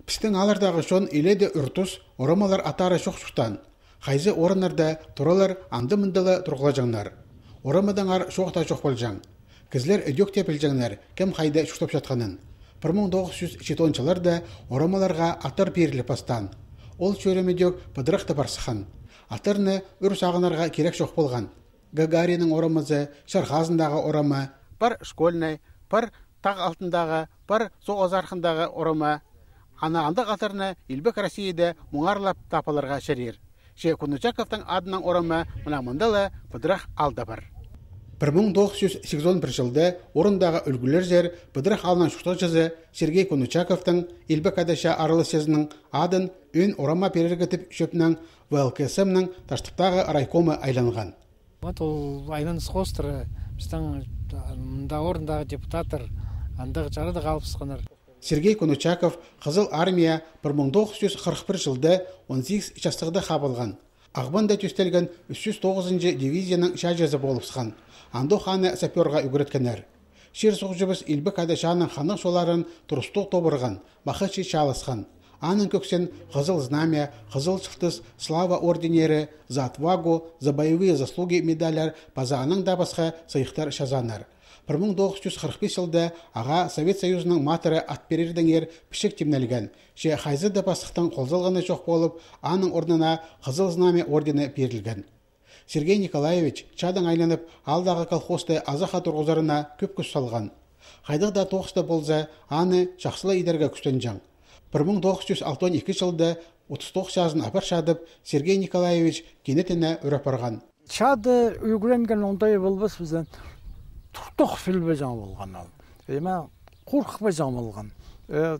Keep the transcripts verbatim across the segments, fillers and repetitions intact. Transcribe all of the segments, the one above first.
Пістің ааллардағы чон илееде ӱр-тус, орамалар аттары чох чуртаан. Хайзы орыннарда туралар, анда-мында ла турғлаҷаңнар. Орамадаңар чоох таа чох полҷаң. Кізілер ідӧк тее пілҷеңнер, кем хайда чуртапчатханын. Пір муң тоғыс чӱс читон чылларда орамаларға аттар пиріліп пастаан. Ол чӧрім ідӧк пыдырах таа пар сыххан. Аттарны ӱр сағынарға кирек чох полған. Гагариннің орамазы, Чар хазындағы орама, пар Школьный, пар Тағ алтындағы, пар Соғыс архындағы орама. Ана андағ аттарны илбек Россияда муңарлап таап аларға чарир. Че Конучаковтың адынаң орама мына мында ла пыдырах аалда пар. Пір муң тоғыс чӱс сигізон пір чылда орындағы ӱлгӱлерзер пыдырах аалның чуртағҷызы Сергей Конучаковтың, Илбек Ада чаа араласчызының адын ӧӧн орама пирерге тіп чӧпнең В Л К С М-ның Таштыптағы райкомы айланған. Вот ол айланыс хоостыра пістің мында орындағы депутаттар андағ чарадығ алыбысханнар. Сергей Конучаков Хызыл Армияа пір муң тоғыс чӱс хырых пір чылда он сигіс частығда хабылған. Ағбанда тӧстелген ӱс чӱс тоғызынҷы дивизияның чааҷызы полыбысхан. Андох аны сапёрға ӱгреткеннер. Чир-суғҷыбыс Илбек Ада чааның ханнығ чолларын турыстығ тобырған, Махачы чааласхан. Аның кӧксін Хызыл Знамя, Хызыл Чылтыс, Слава орденнері, За отвагу, За боевые заслуги медальлар паза анаң даа пасха сыйыхтар чазааннар. Пір муң тоғыс чӱс хырых пис чылда ағаа Совет Союзының Матыры ат пирердеңер пічік тимнелген, че хайзы даа пастыхтың хол салғаны чох полып, аның орнына Хызыл Знамя ордені пирілген. Сергей Николаевич чаадаң айланып, аалдағы колхозты азахха турғызарына кӧп кӱс салған. Хайдағ даа тоғыс та полза, аны чахсы ла идерге кӱстенҷең. Пір муң тоғыс чӱс алтон ікі чылда отыс тоғыс чазын апарчадып, Сергей Николаевич кинетіне ӱр апарған. Чаада ӱгренген оңдай полбас пістең. Туртох пілбеҷең полған ол. Эме, хорыхпаҷаң полған. Э,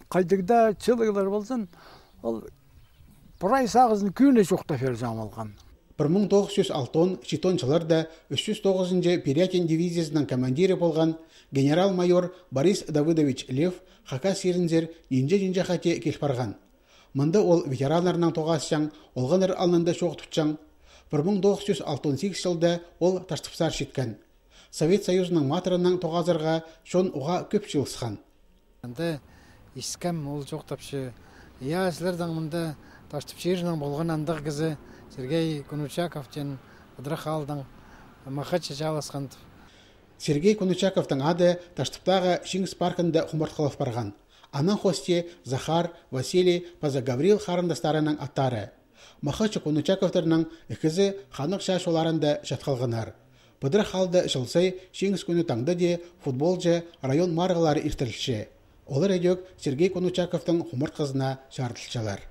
хайдағ даа чылығлар ползын, ол прай сағызын кӧні чоохтап пирҷең полған. Пір муң тоғыс чӱс алтон, читон чылларда ӱс чӱс тоғызынҷы Пирятин дивизиязының командирі полған генерал-майор Борис Давыдович Лев Хакас чирінзер нинҷе-нинҷе хати кил парған. Мында ол ветераннарнаң тоғасчаң, олғаннар алнында чоох тутчаң. Пір муң тоғыс чӱс алтон сигіс чылда ол Таштыпсар читкен. Совет Союзының Матырынаң тоғазарға чон уғаа кӧп чыылысхан. Анда искем, ол чоохтапча: «Я, сірернің мында Таштып чирінең полған андағ кізі Сергей Конучаков теен, пыдырах аалдаң, Махачы чааласхан», — тіп. Сергей Конучаковтың ады Таштыптағы Чиңіс паркында хумартхылап парған. Анаң хости Захар, Василий паза Гаврил харындастарының аттары. Махачы Конучаковтарның ікізі ханнығ чаа чолларында чат халғаннар. Пыдырах аалда чыл сай Чиңіс кӱні таңда даа футболҷа район марығлары иртірілче. Олар ідӧк Сергей Конучаковтың хумартхызына чарыдылчалар.